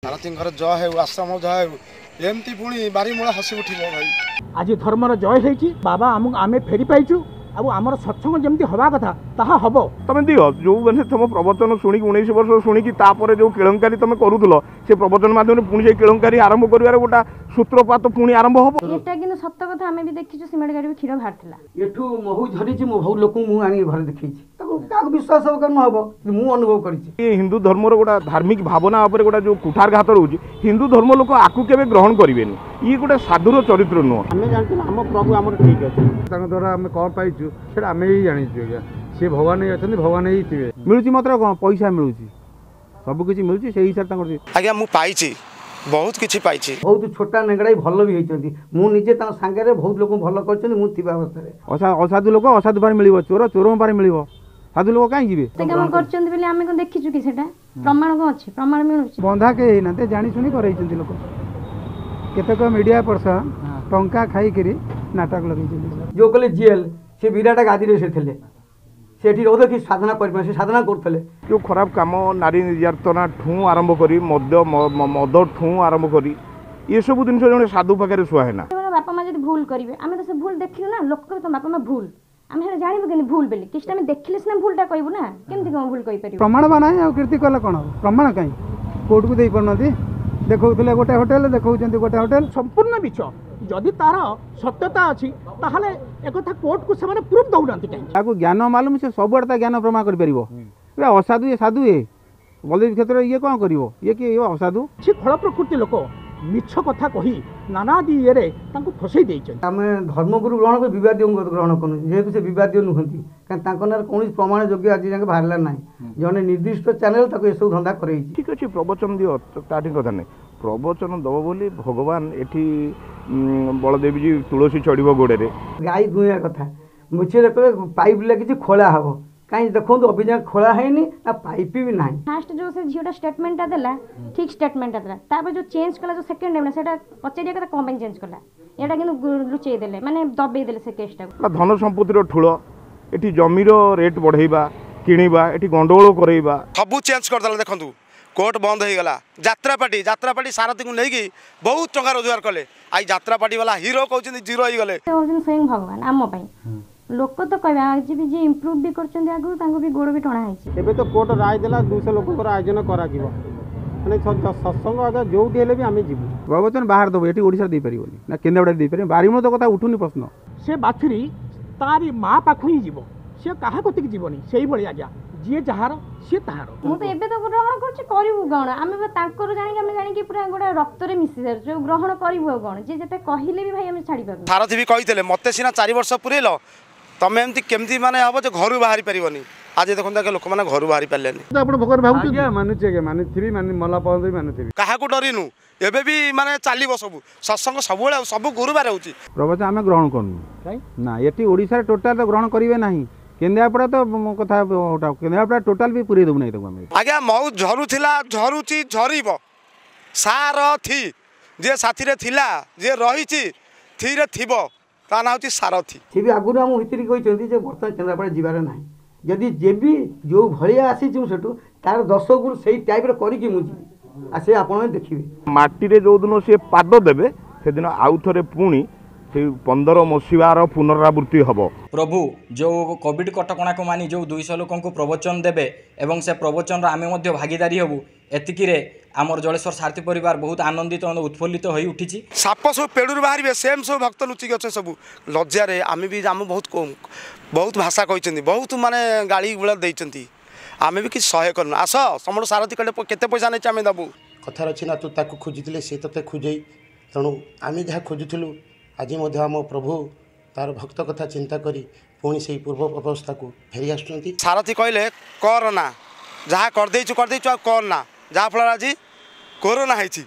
ସାରଥୀଙ୍କର ଜୟ ହେଉ, ଆଶ୍ରମ ଜୟ ହେଉ। ଏମିତି ପୁଣି ବାରିମୂଳା ହସି ଉଠିବ ଭାଇ। ଆଜି ଧର୍ମର ଜୟ ହେଇଛି ବାବା, ଆମକୁ ଆମେ ଫେରି ପାଇଛୁ। ଆଉ ଆମର ସତ୍ସଙ୍ଗ ଯେମିତି ହେବା କଥା ତାହା ହବ। ତମେ ଦିଅ, ଯେଉଁମାନେ ତମ ପ୍ରବଚନ ଶୁଣିକି 19 ବର୍ଷ ଶୁଣିକି ତାପରେ ଯେଉଁ କେଳଙ୍କାରୀ ତମେ କରୁଥିଲ, ସେ ପ୍ରବଚନ ମାଧ୍ୟମରେ ପୁଣି ସେଇ କେଳଙ୍କାରୀ ଆରମ୍ଭ କରିବାର ଗୋଟା ସୂତ୍ରପାତ ପୁଣି ଆରମ୍ଭ ହବ। ଏଟା କିନ୍ତୁ ସତ କଥା, ଆମେ ବି ଦେଖିଛୁ ସିମେଣ୍ଟ ଗାଡ଼ି ବି କ୍ଷୀର ବାହାରିଥିଲା। ଏଠୁ ମହୁ ଝରିଛି, ମୁଁ ବହୁତ ଲୋକଙ୍କୁ ମୁଁ ଆଣିକି ଘରେ ଦେଖେଇଛି। ତାକୁ କାହାକୁ ବିଶ୍ୱାସ ହବ ନ ହବ, ମୁଁ ଅନୁଭବ କରିଛି। ଏ ହିନ୍ଦୁ ଧର୍ମର ଗୋଟା ଧାର୍ମିକ ଭାବନା ଉପରେ ଗୋଟା ଯେଉଁ କୁଠାରଘାତ ରହୁଛି, ହିନ୍ଦୁ ଧର୍ମ ଲୋକ ଆକୁ କେବେ ଗ୍ରହଣ କରିବେନି। ଇଏ ଗୋଟେ ସାଧୁର ଚରିତ୍ର ନୁହଁ। ଆମେ ଜାଣିଛୁ ଆମ ପ୍ରଭୁ ଆମର ଠିକ୍ ଅଛି। ତାଙ୍କ ଦ୍ୱାରା ଆମେ କ'ଣ ପାଇଛୁ ସେଇଟା ଆମେ ହିଁ ଜାଣିଛୁ ଆଜ୍ଞା। ସିଏ ଭଗବାନ ହିଁ ଅଛନ୍ତି, ଭଗବାନ ହିଁ ଥିବେ। ମିଳୁଛି ମାତ୍ର କ'ଣ ପଇସା ମିଳୁଛି, ସବୁ କିଛି ମିଳୁଛି ସେଇ ହିସାବରେ ତାଙ୍କର। ଆଜ୍ଞା ମୁଁ ପାଇଛି, ବହୁତ କିଛି ପାଇଛି। ବହୁତ ଛୋଟା ନେଙ୍ଗଡ଼ା ବି ଭଲ ବି ହେଇଛନ୍ତି। ମୁଁ ନିଜେ ତାଙ୍କ ସାଙ୍ଗରେ ବହୁତ ଲୋକଙ୍କୁ ଭଲ କରିଛନ୍ତି ମୁଁ ଥିବା ଅବସ୍ଥାରେ। ଅସାଧୁ ଲୋକ ଅସାଧୁ ପାରେ ମିଳିବ, ଚୋର ଚୋରଙ୍କ ପାରେ ମିଳିବ, ସାଧୁ ଲୋକ କାହିଁ ଯିବେ? ସେ କାମ କରିଛନ୍ତି ବୋଲି ଆମେ କ'ଣ ଦେଖିଛୁ କି? ସେଟା ପ୍ରମାଣ କ'ଣ ଅଛି? ପ୍ରମାଣ ମିଳୁଛି? ବନ୍ଧା କେହି ହେଇନାହାନ୍ତି, ଜାଣି ଶୁଣି କରେଇଛନ୍ତି ଲୋକ। କେତେକ ମିଡ଼ିଆ ପର୍ସନ ଟଙ୍କା ଖାଇକିରି ନାଟକ ଲଗେଇଛନ୍ତି। ଯେଉଁ କହିଲେ ଜେଲ୍, ସେ ବିରାଟ ଗାଦିରେ ସେ ଥିଲେ, ସେଠି ରହୁଥିଲେ, କିଛି ସାଧନା କରିପାରିବେ, ସେ ସାଧନା କରୁଥିଲେ। ଯେଉଁ ଖରାପ କାମ, ନାରୀ ନିର୍ଯାତନା ଠୁଁ ଆରମ୍ଭ କରି, ମଦ୍ୟ ମଦ ଠୁଁ ଆରମ୍ଭ କରି, ଏସବୁ ଜିନିଷ ଜଣେ ସାଧୁ ପାଖରେ ସୁହାଏ ନା। ବାପା ମା ଯଦି ଭୁଲ କରିବେ, ଆମେ ତ ସେ ଭୁଲ ଦେଖିନୁ ନା। ଲୋକ କହିବେ ତମ ବାପା ମା ଭୁଲ, ଆମେ ସେଟା ଜାଣିବୁ କେମିତି ଭୁଲ ବୋଲି? କିଛିଟା ଆମେ ଦେଖିଲେ ସିନା ଭୁଲଟା କହିବୁ ନା, କେମିତି କ'ଣ ଭୁଲ କହିପାରିବୁ? ପ୍ରମାଣ ବା ନାହିଁ, ଆଉ କୀର୍ତ୍ତି କଲେ କ'ଣ ହବ? ପ୍ରମାଣ କାହିଁ କୋର୍ଟକୁ ଦେଇପାରୁନାହାନ୍ତି। ଦେଖାଉଥିଲେ ଗୋଟେ ହୋଟେଲ, ଦେଖାଉଛନ୍ତି ଗୋଟେ ହୋଟେଲ, ସମ୍ପୂର୍ଣ୍ଣ ମିଛ। ଯଦି ତାର ସତ୍ୟତା ଅଛି ତାହେଲେ ଏକଥା କୋର୍ଟକୁ ସେମାନେ ପ୍ରୁଫ୍ ଦେଉନାହାନ୍ତି କାହିଁକି? ତାକୁ ଜ୍ଞାନ ମାଲୁମ, ସେ ସବୁଆଡ଼େ ତା ଜ୍ଞାନ ପ୍ରମାଣ କରିପାରିବ। ଏବେ ଅସାଧୁ ଇଏ, ସାଧୁ ଇଏ ବଳଦେବ କ୍ଷେତ୍ରରେ ଇଏ କ'ଣ କରିବ? ଇଏ କିଏ? ଇଏ ଅସାଧୁ। କିଛି ଖଳ ପ୍ରକୃତି ଲୋକ ମିଛ କଥା କହି ନାନାଦି ଇଏରେ ତାଙ୍କୁ ଫସେଇ ଦେଇଛନ୍ତି। ଆମେ ଧର୍ମଗୁରୁ ଗ୍ରହଣ କରି ବିବାଦୀୟଙ୍କୁ ଗ୍ରହଣ କରୁନୁ, ଯେହେତୁ ସେ ବିବାଦୀୟ ନୁହନ୍ତି। କାରଣ ତାଙ୍କ ନାଁରେ କୌଣସି ପ୍ରମାଣ ଯୋଗ୍ୟ ଆଜି ଯାଏଁ ବାହାରିଲା ନାହିଁ। ଜଣେ ନିର୍ଦ୍ଦିଷ୍ଟ ଚ୍ୟାନେଲ ତାକୁ ଏସବୁ ଧନ୍ଦା କରେଇଛି। ଠିକ୍ ଅଛି, ପ୍ରବଚନ ଦିଅ, ତାଠି କଥା ନାହିଁ। ପ୍ରବଚନ ଦେବ ବୋଲି ଭଗବାନ ଏଠି ବଳଦେବଜୀ ତୁଳସୀ ଚଢ଼ିବ ଗୋଡ଼ରେ? ଗାଈ ଦୁହିଁବା କଥା ମିଛରେ କହିଲେ ପାଇପ୍ ଲାଗିଛି ଖୋଳା ହବ, କାହିଁ ଦେଖନ୍ତୁ ଅଭିଯାନ ଖୋଳା ହେଇନି ନା ପାଇପ୍ ବି ନାହିଁ। ଫାଷ୍ଟ ଯେଉଁ ସେ ଝିଅଟା ଷ୍ଟେଟମେଣ୍ଟଟା ଦେଲା, ଠିକ୍ ଷ୍ଟେଟମେଣ୍ଟଟା ଦେଲା, ତାପରେ ଯେଉଁ ଚେଞ୍ଜ କଲା ଯେଉଁ ସେକେଣ୍ଡ ଟାଇମ୍, ସେଇଟା ପଚାରିବା କଥା କ'ଣ ପାଇଁ ଚେଞ୍ଜ କଲା? ଏଇଟା କିନ୍ତୁ ଲୁଚେଇ ଦେଲେ, ମାନେ ଦବେଇ ଦେଲେ ସେ କେସ୍ଟାକୁ। ଧନ ସମ୍ପତ୍ତିର ଠୁଳ, ଏଠି ଜମିର ରେଟ୍ ବଢ଼େଇବା, କିଣିବା, ଏଠି ଗଣ୍ଡଗୋଳ କରେଇବା, ସବୁ ଚେଞ୍ଜ କରିଦେଲା। ଦେଖନ୍ତୁ କୋର୍ଟ ବନ୍ଦ ହେଇଗଲା, ଯାତ୍ରା ପାର୍ଟି, ଯାତ୍ରା ପାର୍ଟି ସାରଥୀଙ୍କୁ ନେଇକି ବହୁତ ଟଙ୍କା ରୋଜଗାର କଲେ। I ଯାତ୍ରା ପାର୍ଟି ବାଲା ହିରୋ କହୁଛନ୍ତି ଜିରୋ ହେଇଗଲେ। ସେ ହେଉଛନ୍ତି ସ୍ୱୟଂ ଭଗବାନ ଆମ ପାଇଁ। ଲୋକ ତ କହିବେ, ଆଜି ବି ଯିଏ ଇମ୍ପ୍ରୁଭ୍ ବି କରିଛନ୍ତି ଆଗରୁ ତାଙ୍କୁ ବି ଗୋଡ଼ ବି ଟଣା ହେଇଛି। ଏବେ ତ କୋର୍ଟ ରାୟ ଦେଲା 200 ଲୋକଙ୍କର ଆୟୋଜନ କରାଯିବ, ମାନେ ସତ୍ସଙ୍ଗ ଆଜ୍ଞା ଯୋଉଠି ହେଲେ ବି ଆମେ ଯିବୁ। ପ୍ରବଚନ ବାହାର ଦେବ, ଏଠି ଓଡ଼ିଶାରେ ଦେଇପାରିବନି ନା କେନ୍ଦ୍ରାପଡ଼ାରେ ଦେଇପାରିବନି। ବାରିମୂଳ ତ କଥା ଉଠୁନି ପ୍ରଶ୍ନ। ସେ ବାଛୁରୀ ତାରି ମା ପାଖକୁ ହିଁ ଯିବ, ସେ କାହା କତିକି ଯିବନି। ସେଇଭଳି ଆଜ୍ଞା, ଯିଏ ଯାହାର ସିଏ ତାହାର। ମୁଁ ତ ଏବେ ତ ଗ୍ରହଣ କରୁଛି, କରିବୁ କ'ଣ? ଆମେ ତାଙ୍କର ଜାଣିକି, ଆମେ ଜାଣିକି ପୁରା ଗୋଟେ ରକ୍ତରେ ମିଶି ସାରିଛୁ, ଗ୍ରହଣ କରିବୁ ଆଉ କ'ଣ? ଯିଏ ଯେତେ କହିଲେ ବି ଭାଇ ଆମେ ଛାଡ଼ିପାରିବୁ। ସାରଥୀ ବି କହିଥିଲେ ମୋତେ ସିନା 4 ବର୍ଷ ପୁରେଇଲ, ତମେ ଏମିତି କେମିତି ମାନେ ହବ ଯେ ଘରୁ ବାହାରି ପାରିବନି। ଆଜି ଦେଖନ୍ତୁ ଆଜ୍ଞା, ଲୋକମାନେ ଘରୁ ବାହାରି ପାରିଲେନି। ଆପଣ ଭଗବାନ ଭାବୁଛନ୍ତି? ମାନୁଛି ଆଜ୍ଞା, ମାନୁଥିବି, ମାନେ ମଲା ପର୍ଯ୍ୟନ୍ତ ବି ମାନୁଥିବି। କାହାକୁ ଡରିନୁ, ଏବେ ବି ମାନେ ଚାଲିବ ସବୁ ସତ୍ସଙ୍ଗ ସବୁବେଳେ, ଆଉ ସବୁ ଗୁରୁବାର ହେଉଛି। ପ୍ରବଚନ ଆମେ ଗ୍ରହଣ କରୁନୁ ନା, ଏଠି ଓଡ଼ିଶାରେ ଟୋଟାଲ ତ ଗ୍ରହଣ କରିବେ ନାହିଁ। କେନ୍ଦ୍ରାପଡ଼ା ତ କଥା, କେନ୍ଦ୍ରାପଡ଼ା ଟୋଟାଲ ବି ପୁରେଇ ଦେବୁ ନାହିଁ ତାକୁ ଆମେ। ଆଜ୍ଞା ମହୁ ଝରୁଥିଲା, ଝରୁଛି, ଝରିବ। ସାରଥୀ, ଯିଏ ସାଥିରେ ଥିଲା, ଯିଏ ରହିଛି, ଥିରେ ଥିବ, ତା ନାଁ ହେଉଛି ସାରଥୀ। ସେ ବି ଆଗରୁ ଆମ ଭିତରେ କହିଛନ୍ତି ଯେ ବର୍ତ୍ତମାନ କେନ୍ଦ୍ରାପଡ଼ା ଯିବାର ନାହିଁ। ଯଦି ଯେବି ଯେଉଁ ଭଳିଆ ଆସିଛି ମୁଁ ସେଠୁ ତାର 10 ଗୁଣ ସେଇ ଟାଇପ୍ର କରିକି ମୁଁ ଯିବି, ଆଉ ସେ ଆପଣମାନେ ଦେଖିବେ। ମାଟିରେ ଯେଉଁଦିନ ସିଏ ପାଦ ଦେବେ, ସେଦିନ ଆଉ ଥରେ ପୁଣି ସେଇ 15 ମସିହାର ପୁନରାବୃତ୍ତି ହେବ। ପ୍ରଭୁ ଯେଉଁ କୋଭିଡ଼ କଟକଣାକୁ ମାନି ଯେଉଁ 200 ଲୋକଙ୍କୁ ପ୍ରବଚନ ଦେବେ ଏବଂ ସେ ପ୍ରବଚନର ଆମେ ମଧ୍ୟ ଭାଗିଦାରୀ ହେବୁ, ଏତିକିରେ ଆମର ଜଳେଶ୍ୱର ସାରଥୀ ପରିବାର ବହୁତ ଆନନ୍ଦିତ ଉତ୍ଫୁଲ୍ଲିତ ହୋଇ ଉଠିଛି। ସାପ ସବୁ ପେଡ଼ୁରୁ ବାହାରିବେ, ସେମ୍ ସବୁ ଭକ୍ତ ଲୁଚିକି ଅଛନ୍ତି ସବୁ ଲଜ୍ଜାରେ। ଆମେ ବି ଆମ ବହୁତ ବହୁତ ଭାଷା କହିଛନ୍ତି, ବହୁତ ମାନେ ଗାଳି ଗୁଳା ଦେଇଛନ୍ତି, ଆମେ ବି କିଛି ସହ୍ୟ କରୁନୁ। ଆସ ସମର ସାରଥୀ କହିଲେ କେତେ ପଇସା ନେଇଛି ଆମେ ଦେବୁ। କଥାରେ ଅଛି ନା, ତୁ ତାକୁ ଖୋଜିଥିଲେ ସେ ତୋତେ ଖୋଜେଇ। ତେଣୁ ଆମେ ଯାହା ଖୋଜୁଥିଲୁ, ଆଜି ମଧ୍ୟ ଆମ ପ୍ରଭୁ ତାର ଭକ୍ତ କଥା ଚିନ୍ତା କରି ପୁଣି ସେଇ ପୂର୍ବ ଅବସ୍ଥାକୁ ଫେରି ଆସୁଛନ୍ତି। ସାରଥୀ କହିଲେ କର ନା, ଯାହା କରିଦେଇଛୁ କରିଦେଇଛୁ, ଆଉ କର ନା, ଯାହାଫଳରେ ଆଜି କୋରୋନା ହେଇଛି।